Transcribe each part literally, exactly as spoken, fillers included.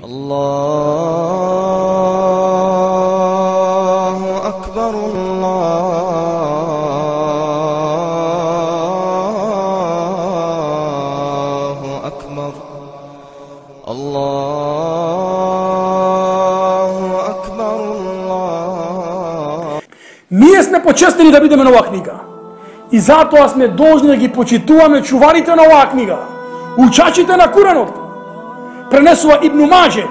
Allahu akbar, Allahu akbar, Allahu akbar, Allah. Ние сме почестени да бидеме на оваа книга. И затоа сме должни да ги почитуваме чуварите на оваа книга, учачите на Куранот. Пренесува Ибн Маже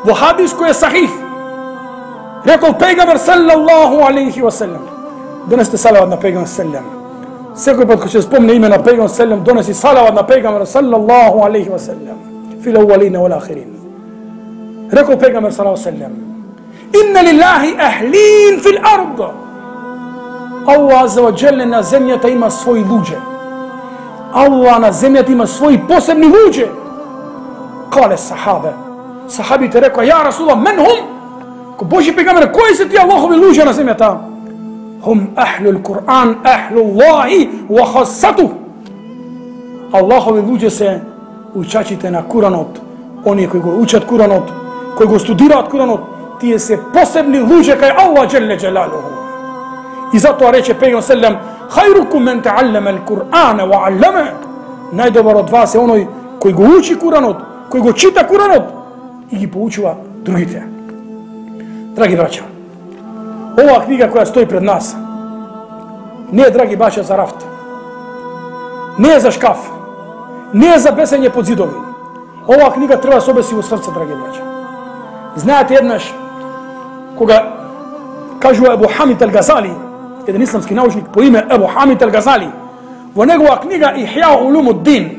во хадис кој е сахих. Рекол пејгамбер саллаллаху алейхи ва селем. Донесете салават на пејгамбер селем. Секој пат кога ќе спомне име на пејгамбер селем, донеси салават на пејгамбер саллаллаху алейхи ва селем. Фил ауалин вал ахирин. Рекол пејгамбер саллаллаху селем: Инна лиллахи ахлин фил ард. Allah azza wa jalla na zemljata ima svoji luđe. Allah na zemljata ima svoji posebni luđe. Kale sahabe. Sahabi te rekao: Ja Rasulullah, men hum? Ko Boži pejgamber, koji su ti Allahovi luđe na zemljata? Hum ahlul Kur'an, ahlullahi wa khassatuh. Allahovi luđe se učačite na Kuranot. Oni koji go učat Kuranot, koji go studirat Kuranot, tije se posebni luđe kaj Allah jalla jalaluhu. I zato reče pejgamber sallam: Khairukum men ta'allama al-Qur'ana wa 'allama. Najdobar od vas je onaj koji go uči Kuranot, koji go čita Kuranot i gi poučava другите. Драги браќа, ова книга која стои пред нас не е, драги браќа, за рафт, не е за шкаф, не е за бесење под зидови. Ова книга треба да се обеси во срце, драги браќа. Знаете, еднаш кога кажува Ебу Хамид ал-Газали, еден исламски научник по име Ебу Хамид ал-Газали, во негова книга Ихја улумуддин,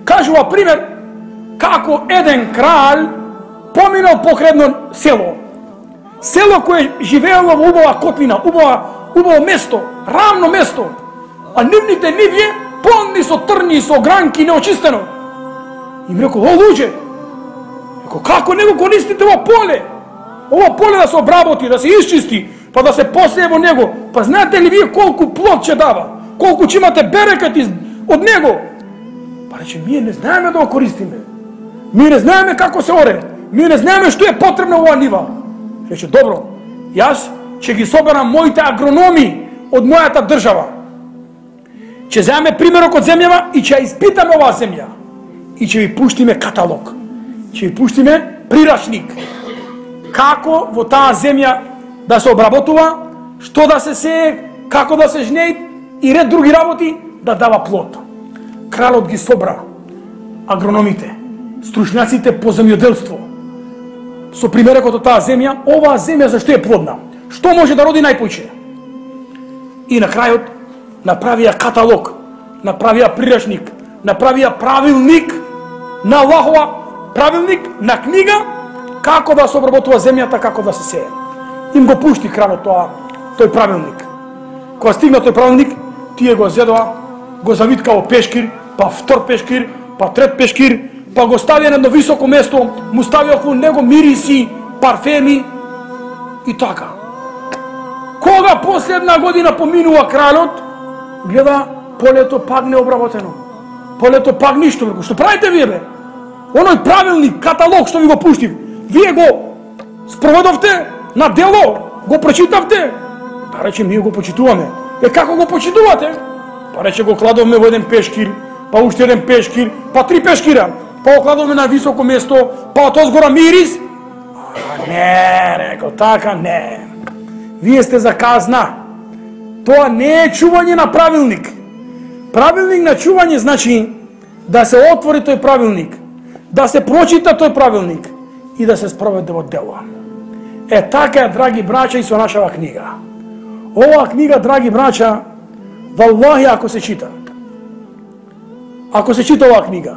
кажува пример како еден краль поминал покрај едно село. Село кое живеело во убава котлина, убава, убаво место, рамно место, а нивните нивје полни со трни, со гранки, неочистено. И ми рекол: О, луѓе, рекол, како не го користите ова поле? Ова поле да се обработи, да се исчисти, па да се посее во него. Па знаете ли вие колку плод ќе дава? Колку ќе имате берекат од него? Па рече: ние не знаеме да го користиме. Ние не знаеме како се оре. Ние не знаеме што е потребно во оваа нива. Рече: добро, јас ќе ги соберам моите агрономи од мојата држава. Ќе земеме примерок од земјава и ќе ја испитаме оваа земја. И ќе ви пуштиме каталог. Ќе ви пуштиме прирачник. Како во таа земја да се обработува, што да се сее, како да се жнеи и ред други работи да дава плод. Кралот ги собра агрономите, стручњаците по земјоделство, со примерокот од таа земја, оваа земја зашто е плодна, што може да роди најпојче. И на крајот направија каталог, направија прирачник, направија правилник на Аллахова, правилник на книга како да се обработува земјата, како да се сее. Им го пушти кралот тоа, тој правилник. Кога стигна тој правилник, тие го зедоа, го завитка во пешкир, па втор пешкир, па трет пешкир, па го ставија на едно високо место, му ставија околу него мириси, парфеми и така. Кога последна година поминува кралот, гледа полето пак необработено. Полето пак ништо. Што правите вие, бе? Оној правилник, каталог што ви го пуштив, вие го спроведовте на дело, го прочитавте? Па рече: ние го почитуваме. Е, како го почитувате? Па рече: го кладовме во еден пешкир, па уште еден пешкир, па три пешкира, па го кладовме на високо место, па од озгора мирис. А, не, рекол, така не. Вие сте за казна. Тоа не е чување на правилник. Правилник на чување значи да се отвори тој правилник, да се прочита тој правилник и да се спроведе во дело. Е, така е, драги браќа, и со нашава книга. Ова книга, драги браќа, валлахи, ако се чита, ако се чита оваа книга,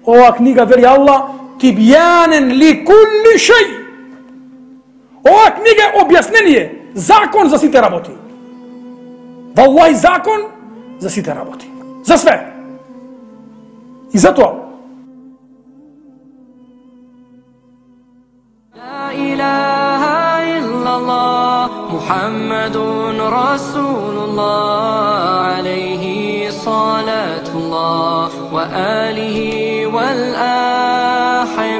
оваа книга, вели Аллах, тибјанен ли кулли шеј. Оваа книга е објаснение, закон за сите работи. Валлахи, закон за сите работи. За све. И затоа لا إله إلا الله محمد رسول الله عليه صلاة الله وآله والآخر